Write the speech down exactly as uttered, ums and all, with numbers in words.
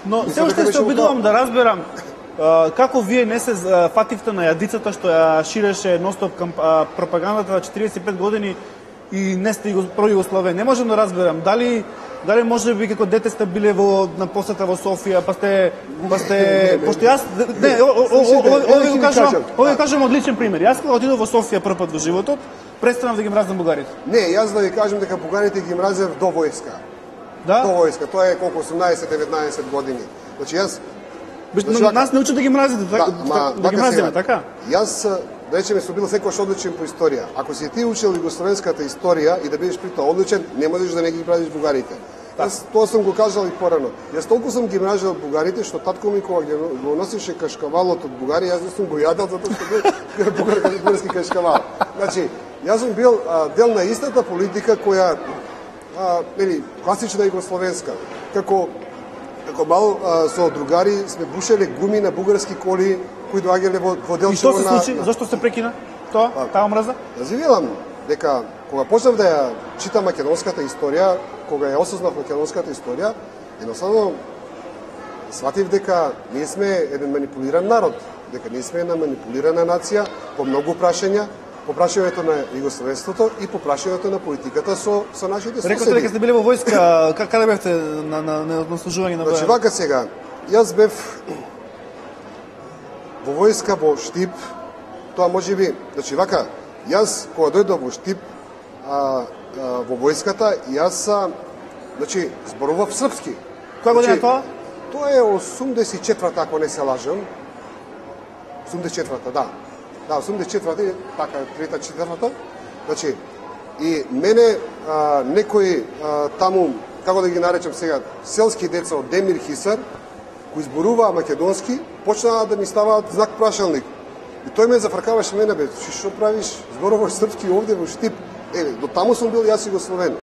Но се уште се обидувам да разберам како вие не се фативте на јадицата што ја ширеше ностоп пропагандата на четиридесет и пет години и не сте пројугословен. Не можам да разберам дали дали може би како дете сте биле во на посета во Софија, па сте па сте пошто јас не овој го кажам, овој го кажам од личен пример. Јас кога отидов во Софија прв пат во животот, престанав да ги мразам бугарите. Не, јас да ви кажам дека бугарите ги мразев до војска. Да? До војска, тоа е колку осумнаесет-деветнаесет години. Значи јас Значи, нас не учат да ги мразите, така, да, да ги мразиме, така? Јас, да речеме, сум бил секојаш одличен по историја. Ако си ти учил југословенската историја и да бидеш при тоа одличен, не можеш да не ги мразиш бугарите. Јас тоа сум го кажал и порано. Јас толку сум ги мразел бугарите што татко ми кога го носише кашкавалот од Бугарија, јас не сум го јадел затоа што бил бугарски кашкавал. Значи, јас сум бил а, дел на истата политика која а, нели, класична југословенска. Како Како мал а, со другари сме бушеле гуми на бугарски коли кои доаѓале во, во Делчево. И што се случи? На... Зошто се прекина тоа? А, таа мраза? Јас ви велам дека кога почнав да ја читам македонската историја, кога ја осознав македонската историја, едноставно сватив дека ние сме еден манипулиран народ, дека ние сме една манипулирана нација по многу прашања, по прашањето на југословенството и по прашањето на политиката со со нашите соседи. Рекоте дека сте биле во војска, каде бевте на на на, на служување на војска? Значи вака сега, јас бев во војска во Штип, тоа можеби, значи вака, јас кога дојдов во Штип а, а, во војската, јас значи зборував српски. Која година значи, тоа? Тоа е осумдесет и четврта, ако не се лажам. осумдесет и четврта, да. Да, осумдесет и четврта, така, трета, четвртата. Значи, и мене а, некои а, таму, како да ги наречам сега, селски деца од Демир Хисар, кои зборуваа македонски, почнаа да ми ставаат знак прашалник. И тој ме зафркаваше мене, бе, што правиш, зборуваш српски овде во Штип. Еве, до таму сум бил јас југословен.